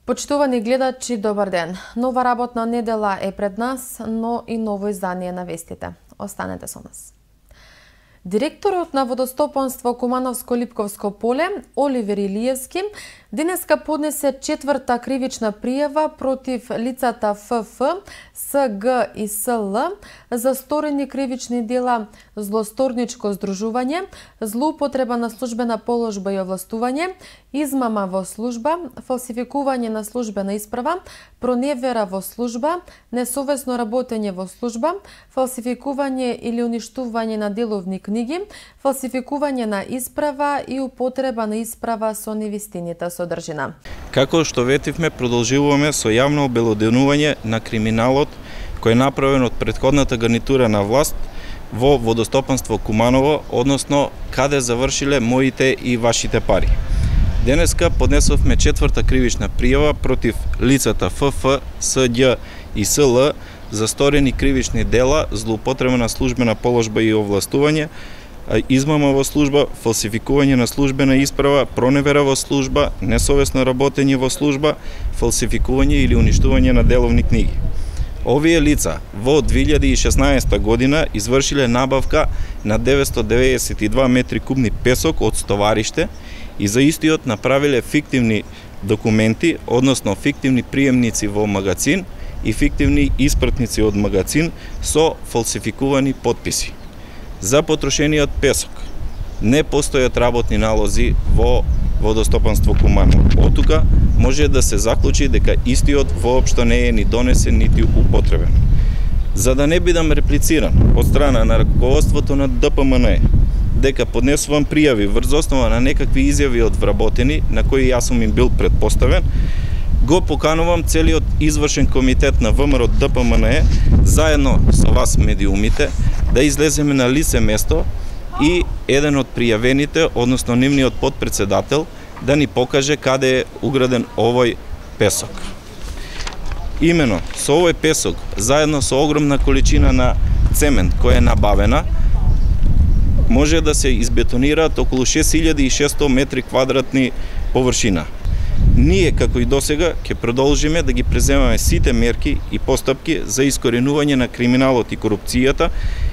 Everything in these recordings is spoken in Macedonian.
Почитувани гледачи, добар ден. Нова работна недела е пред нас, но и ново издание на вестите. Останете со нас. Директорот на водостопанство Кумановско-Липковско поле, Оливер Илиевски, денеска поднесе четврта кривична пријава против лицата ФФ, СГ и СЛ за сторени кривични дела, злосторничко здружување, злоупотреба на службена положба и овластување, измама во служба, фалсификување на службена исправа, проневера во служба, несовесно работење во служба, фалсификување или уништување на деловни книги, фалсификување на исправа и употреба на исправа со невистинита содржина. Како што ветивме, продолжуваме со јавно обелоденување на криминалот кој е направен од претходната гарнитура на власт во водостопанство Куманово, односно каде завршиле моите и вашите пари. Денеска поднесовме четврта кривична пријава против лицата ФФ, Сѓ и СЛ за сторени кривични дела, злоупотреба на службена положба и овластување, измама во служба, фалсификување на службена исправа, проневера во служба, несовесно работење во служба, фалсификување или уништување на деловни книги. Овие лица во 2016 година извршиле набавка на 992 метри кубни песок од стовариште и за истиот направиле фиктивни документи, односно фиктивни приемници во магазин и фиктивни испратници од магазин со фалсификувани потписи. За потрошениот песок не постојат работни налози во водостопанство Куманово. Од тука може да се заклучи дека истиот воопшто не е ни донесен нити употребен. За да не бидам реплициран од страна на раководството на ДПМН дека поднесувам пријави врз основа на некакви изјави од вработени на кои јас сум им бил предпоставен, го поканувам целиот извршен комитет на ВМРО ДПМН заедно со вас медиумите да излеземе на лице место и еден од пријавените, односно нивниот подпредседател, да ни покаже каде е уграден овој песок. Имено со овој песок, заедно со огромна количина на цемент која е набавена, може да се избетонираат околу 6600 метри квадратни површина. Ние, како и досега, ќе продолжиме да ги преземаме сите мерки и постапки за искоренување на криминалот и корупцијата,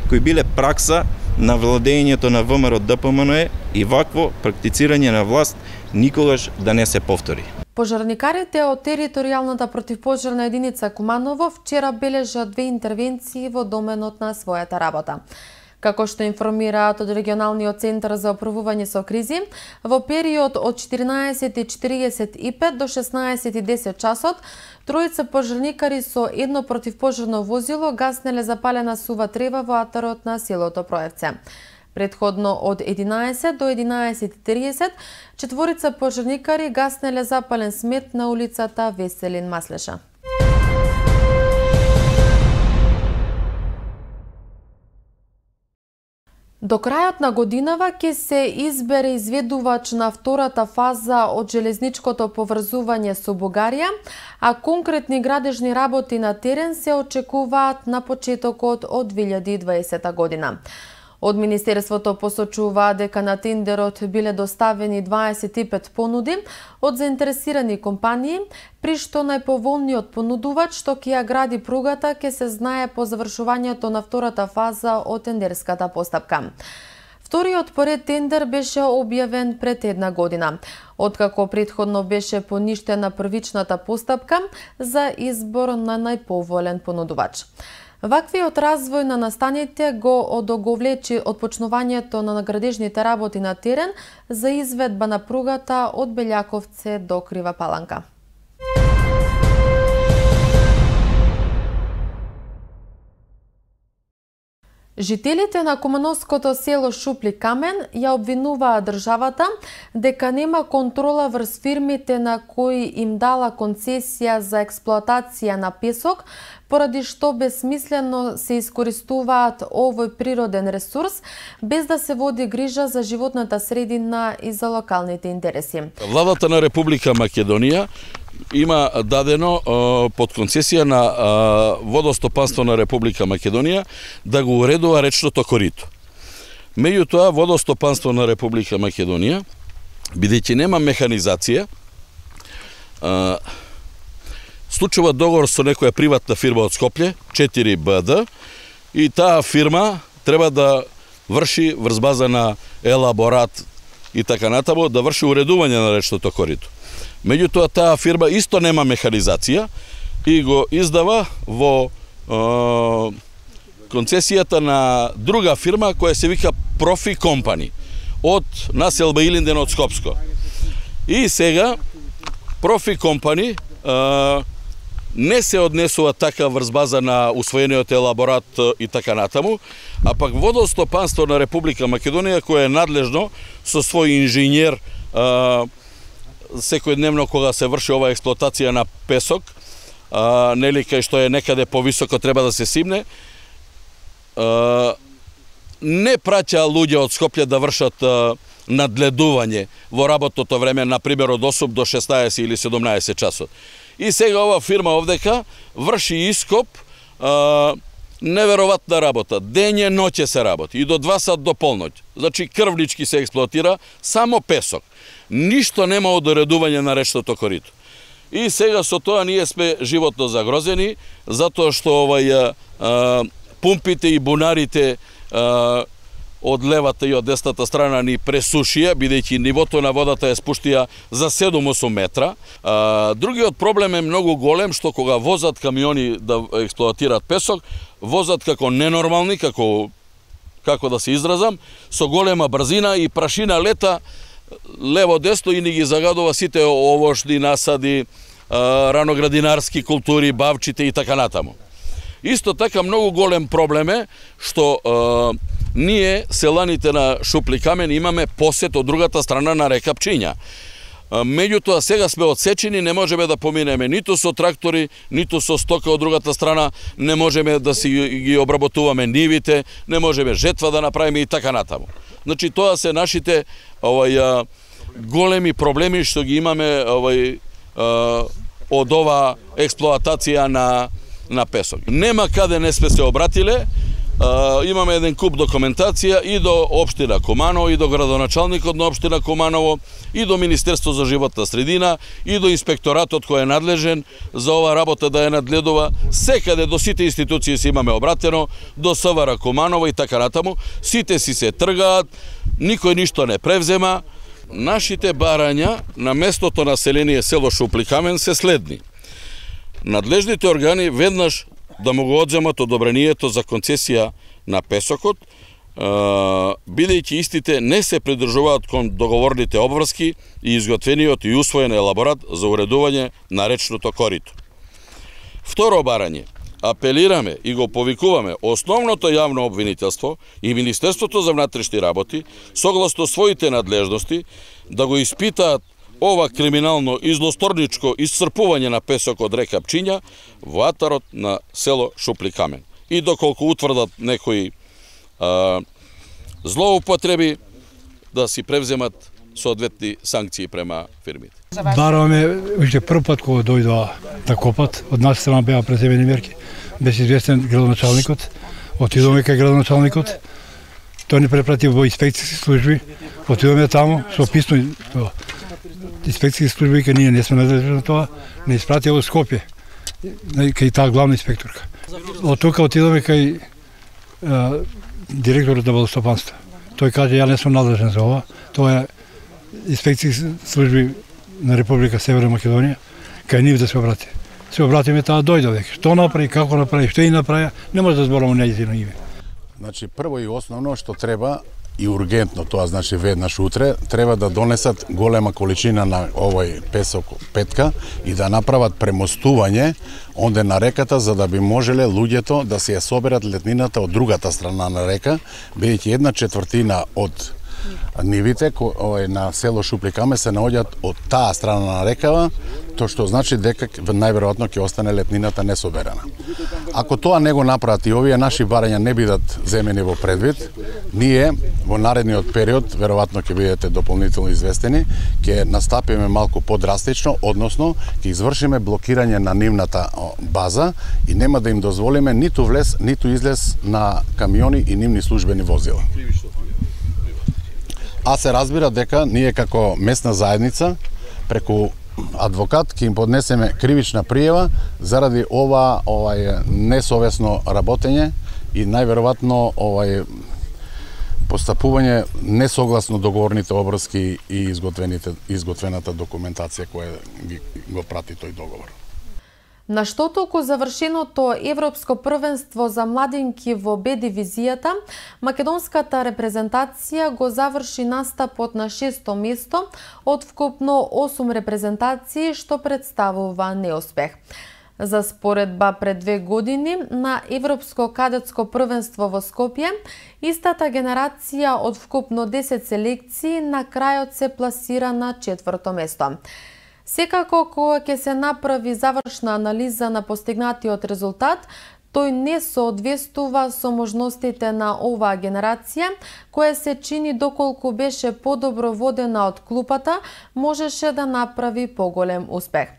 кои биле пракса на владењето на ВМРО ДПМН и вакво практицирање на власт никогаш да не се повтори. Пожарникарите од територијалната противпожарна единица Куманово вчера бележат 2 интервенции во доменот на својата работа. Како што информираат од регионалниот центар за оправување со кризи, во период од 14:45 до 16:10 часот, тројца пожарникари со едно противпожарно возило гаснеле запалена сува трева во атарот на селото Проевце. Предходно од 11 до 11:30, четворица пожарникари гаснеле запален смет на улицата Веселин Маслеша. До крајот на годинава ќе се избере изведувач на втората фаза од железничкото поврзување со Бугарија, а конкретни градежни работи на терен се очекуваат на почетокот од 2020 година. Од Министерството посочува дека на тендерот биле доставени 25 понуди од заинтересирани компании, при што најповолниот понудувач што ќе ја гради пругата ќе се знае по завршувањето на втората фаза од тендерската постапка. Вториот поред тендер беше објавен пред една година, откако претходно беше поништена првичната постапка за избор на најповолен понудувач. Ваквиот развој на настаните го одоговлечи отпочнувањето на градежните работи на терен за изведба на пругата од Белјаковце до Крива Паланка. Жителите на кумановското село Шупли Камен ја обвинуваа државата дека нема контрола врз фирмите на кои им дала концесија за експлоатација на песок, поради што безсмислено се искористуваат овој природен ресурс, без да се води грижа за животната средина и за локалните интереси. Владата на Република Македонија има дадено под концесија на водостопанство на Република Македонија да го уредува речното корито. Меѓутоа, водостопанство на Република Македонија, бидејќи нема механизација, случува договор со некоја приватна фирма од Скопје, 4BD, и таа фирма треба да врши врз база на елаборат и така натаму, да врши уредување на речното корито. Меѓутоа, таа фирма исто нема механизација и го издава во концесијата на друга фирма која се вика Профи Компани од населба Илинден од Скопско. И сега Профи Компани не се однесува така врз база на усвоениот елаборат и така натаму, а пак Водостопанство на Република Македонија, кое е надлежно со свој инженер секојдневно кога се врши ова експлоатација на песок, нели кај што е некаде повисоко треба да се симне, не праќа луѓе од Скопје да вршат надледување во работното време, например од 8 до 16 или 17 часот. И сега ова фирма овдека врши ископ, неверојатна работа. Дење ноќе се работи и до 2 сат до полноќ. Значи крвнички се експлоатира само песок. Ништо нема од уредување на речното корито. И сега со тоа ние сме животно загрозени, затоа што пумпите и бунарите од левата и од десната страна ни пресушија, бидејќи нивото на водата е спуштија за 7-8 метра. Другиот проблем е многу голем, што кога возат камиони да експлоатираат песок, возат како ненормални, како да се изразам, со голема брзина и прашина лета лево-десно и ни ги загадува сите овошни насади, раноградинарски култури, бавчите и така натаму. Исто така многу голем проблем е што ние, селаните на Шупли Камен, имаме посет од другата страна на река Пчиња. Меѓутоа, сега сме одсечени, не можеме да поминеме ниту со трактори, ниту со стока од другата страна, не можеме да си ги обработуваме нивите, не можеме жетва да направиме и така натаму. Значи, тоа се нашите големи проблеми што ги имаме од ова експлоатација на песок. Нема каде не сме се обратиле, имаме еден куп документација и до општина Куманово, и до градоначалникот на општина Куманово, и до Министерство за животна средина, и до инспекторатот кој е надлежен за ова работа да ја надледува. Секаде до сите институции се имаме обратено, до СВР Куманово и така натаму. Сите си се тргаат, никој ништо не превзема. Нашите барања на местото население село Шупли Камен се следни. Надлежните органи веднаш да му го одземат одобрението за концесија на песокот, бидејќи истите не се придржуваат кон договорните обврски и изготвениот и усвоен елаборат за уредување на речното корито. Второ барање. Апелираме и го повикуваме основното јавно обвинителство и Министерството за внатрешни работи, согласно своите надлежности, да го испитаат ова криминално и злосторничко исцрпување на песок од река Пчиња во атарот на село Шупли Камен. И доколку утврдат некои злоупотреби, да си превземат соодветни санкции према фирмите. Бараме уште прв пат кога дојдоа да копат, од наша страна беа преземени мерки. Беше известен градоначалникот, отидоме кај градоначалникот, тој ни препрати во инспекцијски служби, отидоме таму со писмо инспекцијски служби, кај ние не сме надлежни на тоа, не испратија во Скопје, кај таа главна инспекторка. Од тука отидоме кај директорот на водостопанство. Тој каже, ја не сум надлежен за ова, тоа е инспекцијски служби на Република Северна Македонија, кај нив да се обрати. Се обратиме, таа дојде веќе. Што направи, како направи, што и направи, не може да зборуваме нејзино име. Значи, прво и основно што треба и ургентно, тоа значи веднаш утре, треба да донесат голема количина на овој песок петка и да направат премостување онде на реката, за да би можеле луѓето да се ја соберат летнината од другата страна на река, бидејќи 1/4 од нивите на село Шупли Камен се наоѓаат од таа страна на рекава, тоа што значи дека најверојатно ќе остане летнината несоберана. Ако тоа не го направат и овие наши барања не бидат земени во предвид, ние во наредниот период, веројатно ќе бидете дополнително известени, ќе настапиме малку подрастично, односно ќе извршиме блокирање на нивната база и нема да им дозволиме ниту влез, ниту излез на камиони и нивни службени возила. А се разбира дека ние како местна заедница преку адвокат ќе им поднесеме кривична пријава заради ова несовесно работење и најверојатно постапување несогласно договорните обврски и изготвената документација која го прати тој договор. На што толку завршеното Европско првенство за младинки во Б дивизијата, македонската репрезентација го заврши настапот на 6-то место од вкупно 8 репрезентации, што представува неуспех. За споредба пред 2 години на Европско кадетско првенство во Скопје, истата генерација од вкупно 10 селекции на крајот се пласира на 4-то место. Секако, кога ќе се направи завршна анализа на постигнатиот резултат, тој не соодветствува со можностите на оваа генерација, која се чини доколку беше подобро водена од клупата, можеше да направи поголем успех.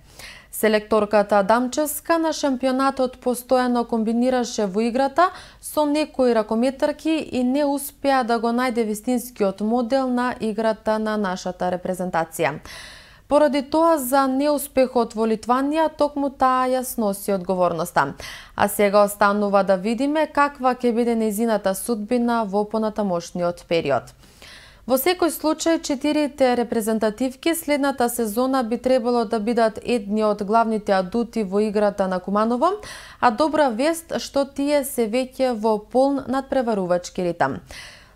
Селекторката Дамчевска на шампионатот постојано комбинираше во играта со некои ракометарки и не успеа да го најде вистинскиот модел на играта на нашата репрезентација. Поради тоа за неуспехот во Литванија, токму таа ја сноси одговорноста. А сега останува да видиме каква ќе биде нејзината судбина во понатамошниот период. Во секој случај, 4 репрезентативки следната сезона би требало да бидат едни од главните адути во играта на Куманово, а добра вест што тие се веќе во полн надпреварувачки ритам.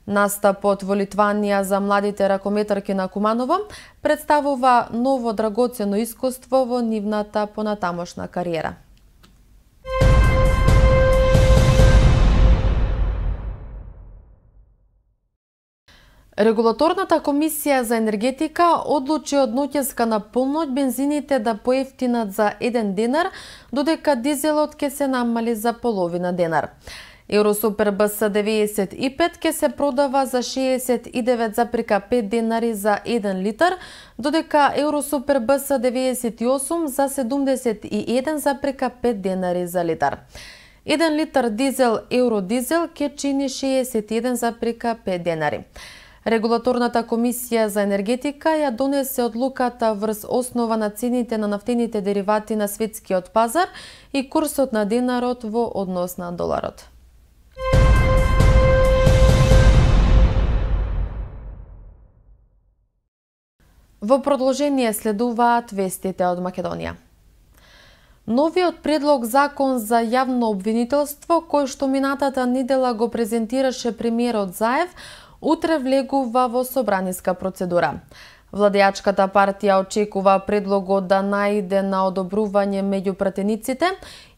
Настапот во Литванија за младите ракометарки на Куманово представува ново драгоцено искуство во нивната понатамошна кариера. Регулаторната комисија за енергетика одлучи од ноќеска на полноќ бензините да поевтинат за 1 денар, додека дизелот ќе се намали за половина денар. Евросупер БС 95 ќе се продава за 69,5 денари за 1 литар, додека Евросупер БС 98 за 71,5 денари за литар. 1 литар дизел Евродизел ќе чини 61,5 денари. Регулаторната комисија за енергетика ја донесе одлуката врз основа на цените на нафтените деривати на светскиот пазар и курсот на денарот во однос на доларот. Во продолжение следуваат вестите од Македонија. Новиот предлог закон за јавно обвинителство, кој што минатата недела го презентираше премиерот Заев, утре влегува во собраниска процедура. Владеачката партија очекува предлогот да најде на одобрување меѓу пратениците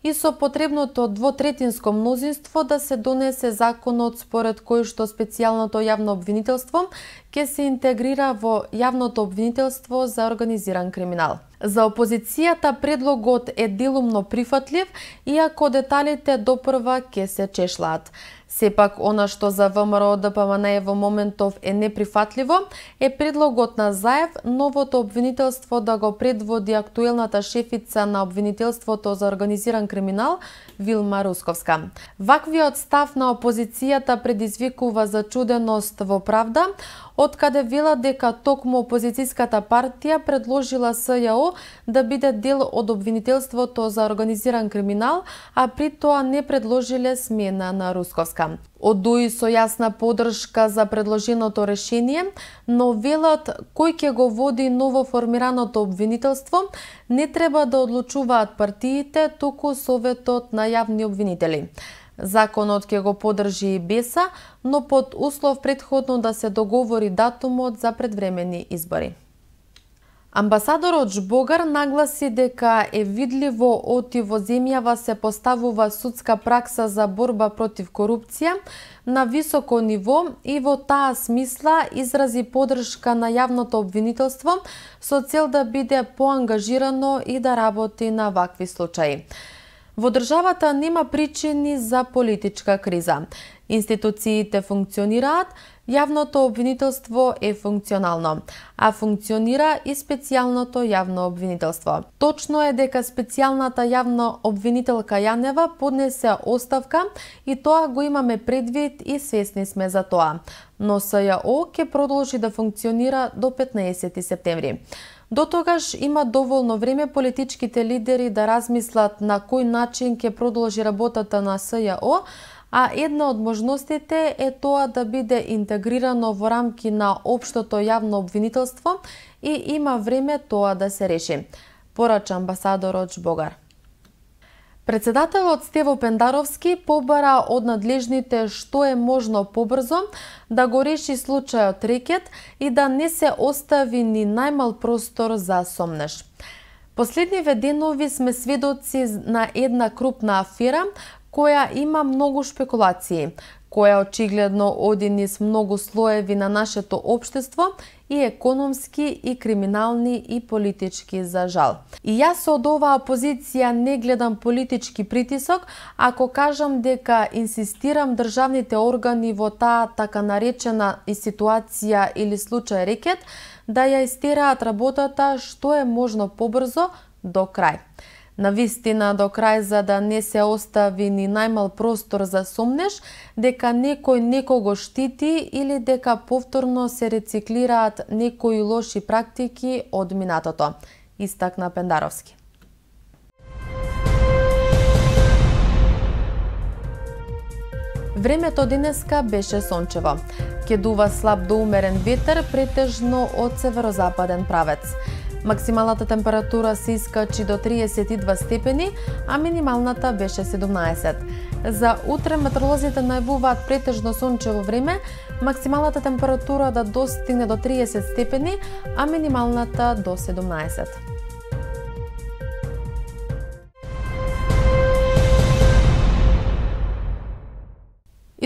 и со потребното двотретинско мнозинство да се донесе законот според кој што специјалното јавно обвинителство ќе се интегрира во јавното обвинителство за организиран криминал. За опозицијата предлогот е делумно прифатлив, иако деталите допрва ќе се чешлаат. Сепак, она што за ВМРО ДПМН во моментов е неприфатливо, е предлогот на Заев новото обвинителство да го предводи актуелната шефица на обвинителството за организиран криминал Вилма Русковска. Ваквиот став на опозицијата предизвикува зачуденост во Правда, откаде велат дека токму опозицијската партија предложила СЈО да биде дел од обвинителството за организиран криминал, а при тоа не предложиле смена на Русковска. Одуи со јасна поддршка за предложеното решение, но велат кој ќе го води новоформираното обвинителство не треба да одлучуваат партиите, туку Советот на јавни обвинители. Законот ќе го поддржи и БЕСА, но под услов претходно да се договори датумот за предвремени избори. Амбасадорот Жбогар нагласи дека е видливо оти во земјава се поставува судска пракса за борба против корупција на високо ниво и во таа смисла изрази поддршка на јавното обвинителство со цел да биде поангажирано и да работи на вакви случаи. Во државата нема причини за политичка криза. Институциите функционираат, јавното обвинителство е функционално, а функционира и специјалното јавно обвинителство. Точно е дека специјалната јавна обвинителка Јанева поднесе оставка и тоа го имаме предвид и свесни сме за тоа. Но СЈО ќе продолжи да функционира до 15 септември. До тогаш има доволно време политичките лидери да размислат на кој начин ќе продолжи работата на СЈО, а една од можностите е тоа да биде интегрирано во рамки на општото јавно обвинителство и има време тоа да се реши, порача амбасадорот Жбогар. Председателот Стево Пендаровски побара од надлежните што е можно побрзо да го реши случајот рекет и да не се остави ни најмал простор за сомнеж. Последниве денови сме сведоци на една крупна афера која има многу шпекулации, која очигледно оди низ многу слоеви на нашето општество, и економски, и криминални, и политички, за жал. И јас од оваа позиција не гледам политички притисок, ако кажам дека инсистирам државните органи во таа така наречена и ситуација или случај рекет да ја истераат работата што е можно побрзо до крај. Навистина до крај, за да не се остави ни најмал простор за сомнеж дека некој некого штити или дека повторно се рециклираат некои лоши практики од минатото, истакна Пендаровски. Времето денеска беше сончево. Ќе дува слаб до умерен ветер, претежно од северозападен правец. Максималната температура се искачи до 32 степени, а минималната беше 17. За утре метеоролозите најавуваат претежно сончево време, максималната температура да достигне до 30 степени, а минималната до 17.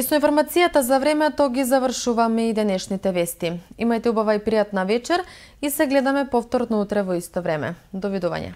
И со информацијата за времето ги завршуваме и денешните вести. Имајте убава и пријатна вечер и се гледаме повторно утре во исто време. Довидување.